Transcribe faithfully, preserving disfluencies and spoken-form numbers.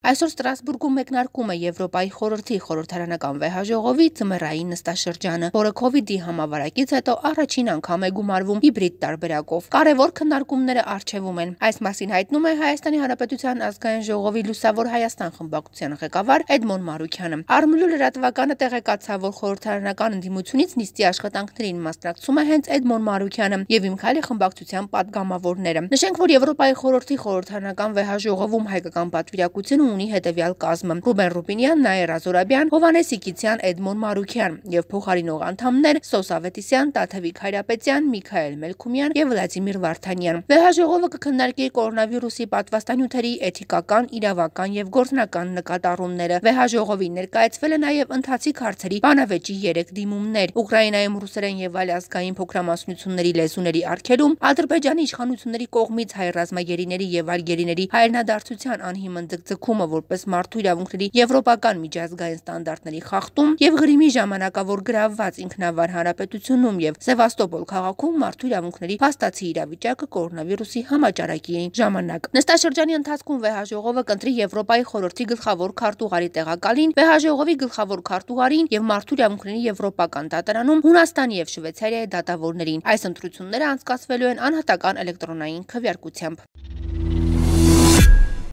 Այսօր Ստրասբուրգում մեկնարկում է Եվրոպայի խորհրդի խորհրդարանական վեհաժողովի ձմեռային նստաշրջանը, որը քովիդի համավարակից հետո առաջին անգամ է գումարվում հիբրիդ տարբերակով։ Կարևոր քննարկումները առջևում են։ Այս մասին հայտնում է Հայաստանի Հանրապետության ազգային ժողովի Լուսավոր Հայաստան խմբակցության ղեկավար Էդմոն Մարուքյանը։ Արմլու լրատվականը տեղեկացավ, որ խորհրդարանական ընդդիմությունից նիստի աշխատանքներին մասնակցում է հենց Էդմոն Մարուքյանը եւ Իմ Քայլի խմբակցության падգամավորները։ Նշենք, որ Եվրոպայի խորհրդի խորհրդարանական վեհաժողովում հայկական պատվիրակությունը ունի հետևյալ կազմը՝ Ռուբեն Ռուբինյան, Նաիրա Զորաբյան, Հովհաննես Իգիթյան, Էդմոն Մարուքյան եւ փոխարինող անդամներ Սոս Ավետիսյան, Տաթևիկ Հայրապետյան, Միքայել Մելքումյան եւ Վլադիմիր Վարդանյան։ Վեհաժողովը կքննարկի կորոնավիրուսի պատվաստանյութերի էթիկական, իրավական եւ գործնական նկատառումները։ Վեհաժողովին ներկայացվել է նաեւ ընթացիկ հարցերի բանավեճի երեք դիմումներ՝ Ուկրաինայում ռուսերեն եւ այլ ազգային փոքրամասնությունների լեզուների արգելում, Ադրբեջանի իշխանությունների կողմից հայ ռազմագերիների եւ այլ գերիների հայրենադարձության անհիմն ձգձգումը որպես մարդու իրավունքների եվրոպական միջազգային ստանդարտների խախտում եւ Ղրիմի ժամանակավոր գրավված ինքնավար հանրապետությունում եւ Սևաստոպոլ քաղաքում մարդու իրավունքների փաստացի իրավիճակը կորոնավիրուսի համաճարակի ժամանակ։ Նստաշրջանի ընթացքում վեհաժողովը կընտրի Եվրոպայի խորհրդի գլխավոր քարտուղարի տեղակալին, վեհաժողովի գլխավոր քարտուղարին եւ մարդու իրավունքների եվրոպական դատարանում Հունաստանի եւ Շվեյցարիայի դատավորներին։ Այս ընտրությունները անցկացվելու են անհատական էլեկտրոնային քվեարկությամբ։